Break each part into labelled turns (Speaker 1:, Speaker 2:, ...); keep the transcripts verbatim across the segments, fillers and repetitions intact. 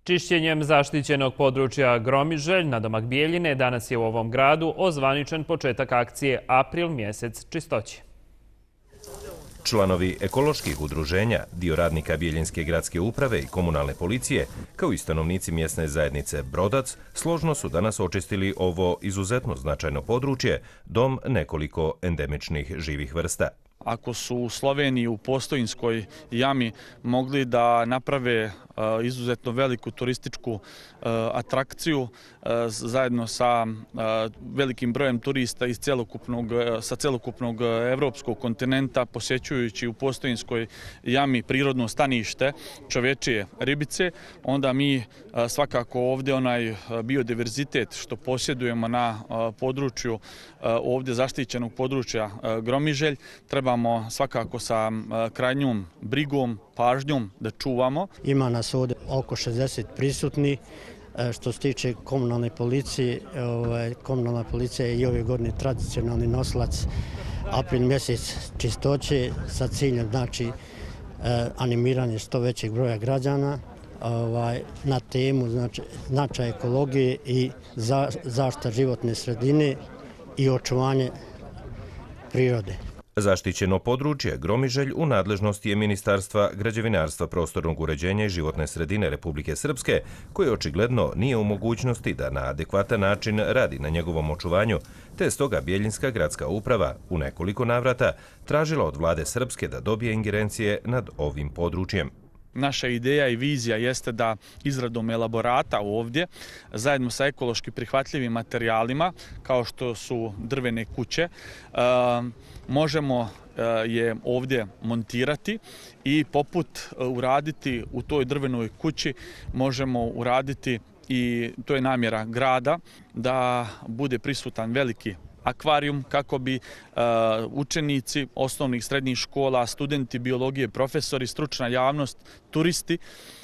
Speaker 1: Čišćenjem zaštićenog područja Gromiželj nadomak Bijeljine danas je u ovom gradu ozvaničen početak akcije April mjesec čistoće.
Speaker 2: Članovi ekoloških udruženja, dio radnika Bijeljinske gradske uprave i komunalne policije, kao i stanovnici mjesne zajednice Brodac, složno su danas očistili ovo izuzetno značajno područje, dom nekoliko endemičnih živih vrsta.
Speaker 3: Ako su u Sloveniji u Postojinskoj jami mogli da naprave izuzetno veliku turističku atrakciju zajedno sa velikim brojem turista iz celokupnog, sa celokupnog evropskog kontinenta, posjećujući u Postojinskoj jami prirodno stanište čovečije ribice, onda mi svakako ovdje onaj biodiverzitet što posjedujemo na području ovdje zaštićenog područja Gromiželj trebamo svakako sa krajnjom brigom, pažnjom da čuvamo.
Speaker 4: Ima nas ovdje oko šezdeset prisutni. Što se tiče komunalne policije, komunalna policija je i ove godine tradicionalni nosilac april mjesec čistoće sa ciljem znači animiranje što većeg broja građana na temu znači, značaj ekologije i zaštita životne sredine i očuvanje prirode.
Speaker 2: Zaštićeno područje Gromiželj u nadležnosti je Ministarstva građevinarstva, prostornog uređenja i životne sredine Republike Srpske, koje očigledno nije u mogućnosti da na adekvatan način radi na njegovom očuvanju, te je stoga Bijeljinska gradska uprava u nekoliko navrata tražila od vlade Srpske da dobije ingerencije nad ovim područjem.
Speaker 3: Naša ideja i vizija jeste da izradom elaborata ovdje, zajedno sa ekološki prihvatljivim materijalima, kao što su drvene kuće, možemo je ovdje montirati i poput uraditi u toj drvenoj kući, možemo uraditi i to je namjera grada, da bude prisutan veliki akvarijum kako bi uh, učenici osnovnih srednjih škola, studenti biologije, profesori, stručna javnost, turisti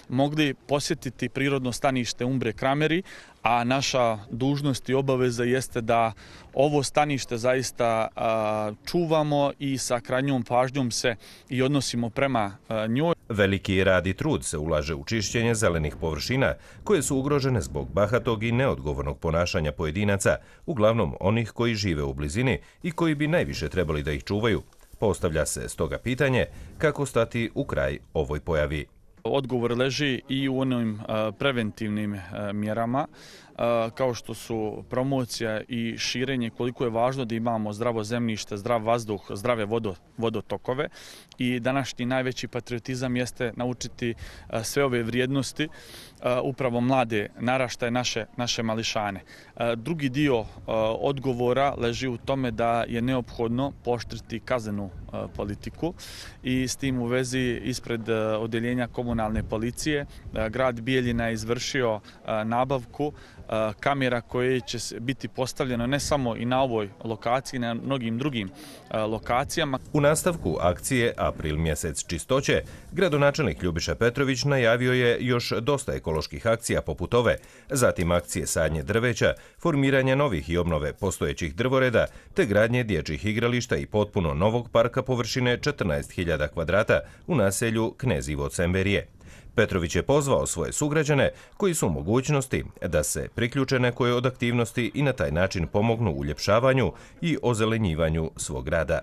Speaker 3: mogli posjetiti prirodno stanište Umbre Krameri, a naša dužnost i obaveza jeste da ovo stanište zaista uh, čuvamo i sa krajnjom pažnjom se i odnosimo prema uh, njoj.
Speaker 2: Veliki rad i trud se ulaže u čišćenje zelenih površina koje su ugrožene zbog bahatog i neodgovornog ponašanja pojedinaca, uglavnom onih koji žive u blizini i koji bi najviše trebali da ih čuvaju. Postavlja se stoga pitanje kako stati u kraj ovoj pojavi.
Speaker 3: Odgovor leži i u onim preventivnim mjerama, kao što su promocija i širenje, koliko je važno da imamo zdravo zemljište, zdrav vazduh, zdrave vodotokove. I današnji najveći patriotizam jeste naučiti sve ove vrijednosti upravo mlade naraštaje, naše, naše mališane. Drugi dio odgovora leži u tome da je neophodno pooštriti kaznenu politiku i s tim u vezi ispred odeljenja komunalne policije grad Bijeljina je izvršio nabavku kamera koje će biti postavljeno ne samo i na ovoj lokaciji, na mnogim drugim lokacijama.
Speaker 2: U nastavku akcije April mjesec čistoće, gradonačelnik Ljubiša Petrović najavio je još dosta ekoloških akcija poput ove, zatim akcije sadnje drveća, formiranje novih i obnove postojećih drvoreda, te gradnje dječjih igrališta i potpuno novog parka površine četrnaest hiljada kvadrata u naselju Knezivo Cemberije. Petrović je pozvao svoje sugrađane koji su u mogućnosti da se priključe nekoj od aktivnosti i na taj način pomognu uljepšavanju i ozelenjivanju svog grada.